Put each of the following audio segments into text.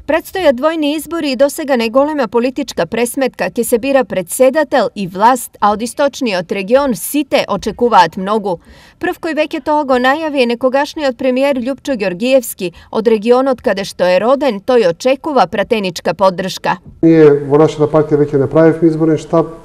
Предстојат двојни избори и досега најголема политичка пресметка ќе се бира председател и власт, а од источниот регион сите очекуваат многу. Прв кој веќе тоа го најави е некогашниот премиер Љупчо Ѓоргиевски. Од регионот каде што е роден, тој очекува пратеничка поддршка. Ние во нашата партија веќе направивме изборен штаб.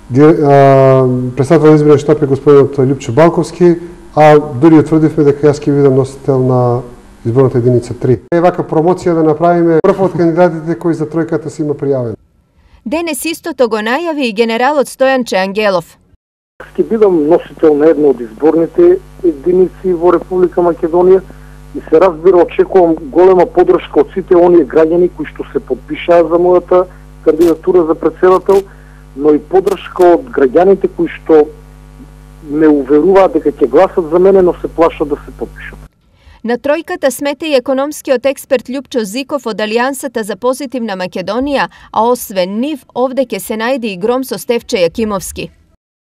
Председател на изборен штаб е господинот Љупчо Балковски, а дури утврдивме дека јас ќе бидам носител на изборната единица 3. Е вака промоција да направиме прв од кандидатите кои за тројката се има пријавен. Денес истото го најави и генералот Стојанче Ангелов. Ќе бидам носител на една од изборните единици во Република Македонија и се разбира очекувам голема поддршка од сите оние граѓани кои што се подпишаа за мојата кандидатура за председател, но и поддршка од граѓаните кои што ме уверуваат дека ќе гласат за мене, но се плашат да се подпишат. На тројката смета и економскиот експерт Љупчо Зиков од Алијансата за позитивна Македонија, а освен нив, овде ќе се најде и гром со Стефче Јакимовски.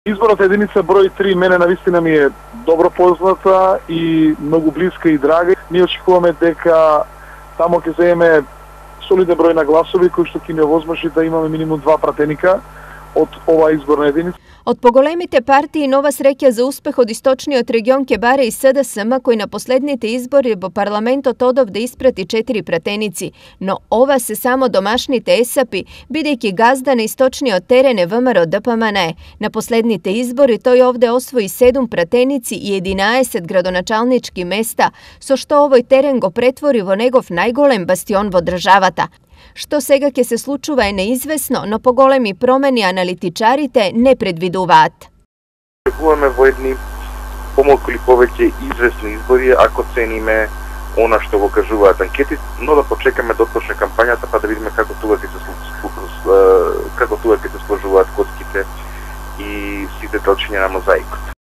Изборната единица број 3 мене навистина ми е добро позната и многу блиска и драга. Ние очекуваме дека тамо ќе земеме солиден број на гласови кои што ќе ни овозможи да имаме минимум 2 пратеника од оваа изборна единица. Од поголемите партии нова среќа за успех од источниот регион ќе баре и СДСМ, кој на последните избори во парламентот одов да испрати 4 пратеници, но ова се само домашните есапи, бидејќи газда на источниот терен е ВМРО ДПМН. На последните избори тој овде освои 7 пратеници и 11 градоначалнички места, со што овој терен го претвори во негов најголем бастион во државата. Што сега ќе се случува е неизвестно, но поголеми промени аналитичарите не предвидуваат. Очекуваме во едни помалку или повеќе известни избори, ако цениме она што го кажуваат анкети, но да почекаме да отпочне кампањата па да видиме како тука ќе се сложуваат коцките и сите делчиња на мозаикот.